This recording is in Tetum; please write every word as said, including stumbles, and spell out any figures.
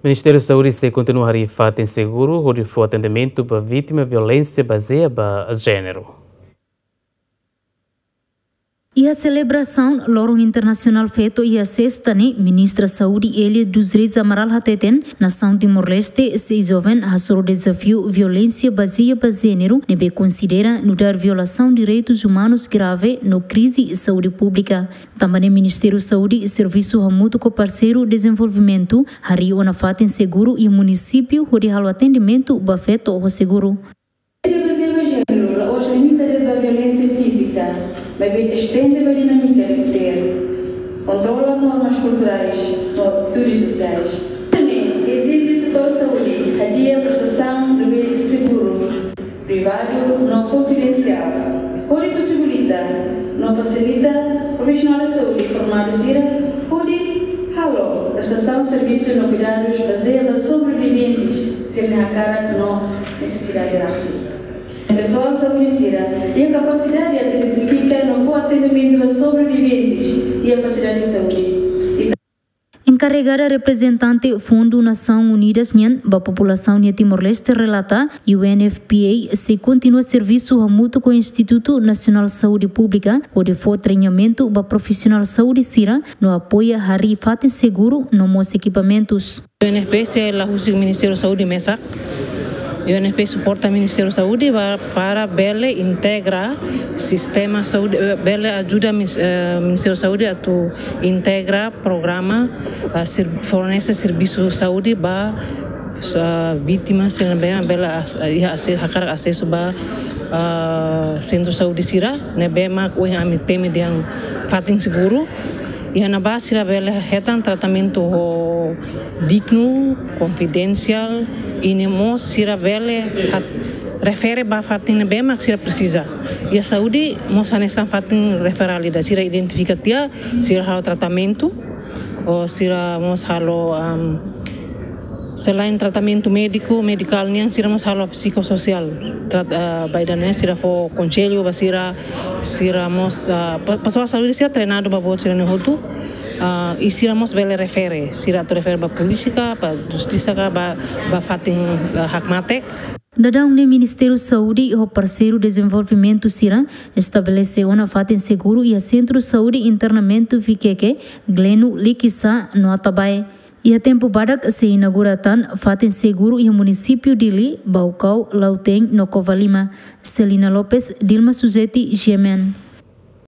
Ministériu Saúde sei kontinua harii fatin seguru hodi fó atendimentu ba vítima violénsia bazeia ba jéneru. Iha selebrasaun Loron Internasionál Feto iha sesta ne'e, Ministra Saúde Elia dos Reis Amaral hateten, nasaun Timor-Leste sei joven hasoru dezafiu violénsia bazeia ba jéneru ne'ebé konsidera nu'udar violasaun direitus umanus grave no krize saúde públika. Tanba ne'e Ministériu Saúde servisu hamutuk ho parseiru dezenvolvimentu, harii ona fatin seguru iha munisípiu hodi halo atendimentu ba feto ho seguru. Violénsia bazeia ba jéneru la'ós limita de'it ba violénsia fízika, maibé estende ba dinámika de podér, kontrola normas kulturais no atitudes sosiais. Ne'e ezije setór saúde hadi'a prestasaun ne'ebé seguru, privadu no konfidensiál, hodi posibilita no fasilita profisionál saúde formadu sira hodi halo prestasaun servisu no kuidadus bazeia ba sobreviventes sira-nia hakarak no nesesidade rasik. Pesoál saúde sira iha kapasidade atu identifika no fó atendimentu ba sobreviventes iha fasilidade saúde. Enkarregada reprezentante Fundu Nasaun Unidas nian ba populasaun iha Timor-Leste relata, U N F P A sei kontinua servisu hamutuk ho Institutu Nasionál Saúde Públika hodi fó treinamentu ba profisionál saúde sira no apoia harii fatin seguru no mós ekipamentus. U N F P A sei la husik Ministériu Saúde mesak. U N F P A suporta Ministériu Saúde ba, para bele integra sistema saúde, eh, bele ajuda mis-, eh, Ministériu Saúde atu integra programa, ah, ser-, fornese servisu saúde ba, ah, vítima sira ne'ebé bele as-, iha ase-, hakarak asesu ba, ah, sentru saúde sira ne'ebé mak ohin ami temi dehan fatin seguru. Iha ne'ebá sira bele hetan tratamentu ho dignu, konfidensiál, i ne'e mós sira bele hat-, refere ba fatin ne'ebé mak sira presiza. Iha saúde mós hanesan fatin referál ida, sira identifika tiha, sira halo tratamentu, ou sira mós halo, am, selain tratamentu médiku, medikál nian, sira mós halo psikososiál. Trat-, ah, ba ida-ne'e sira fó konsellu ba sira, sira mós, ah, pe-, pesoál saúde sira treinadu ba buat sira-ne'e hotu. Ah, i sira mós bele refere, sira atu refere ba polísia ka, ba justisa ka, ba, ba fatin, ah, hakmatek. Daudaun ne'e Ministériu Saúde ho parseiru dezenvolvimentu sira estabelese ona fatin seguru iha Sentru Saúde Internamentu Vikeke, Gleno, Likisá no Atabae. Iha tempu badak sei inaugura tan fatin seguru iha munisípiu Dili, Baucau, Lautein no Covalima. Celina Lopes, Dilma Suzeti, G M N.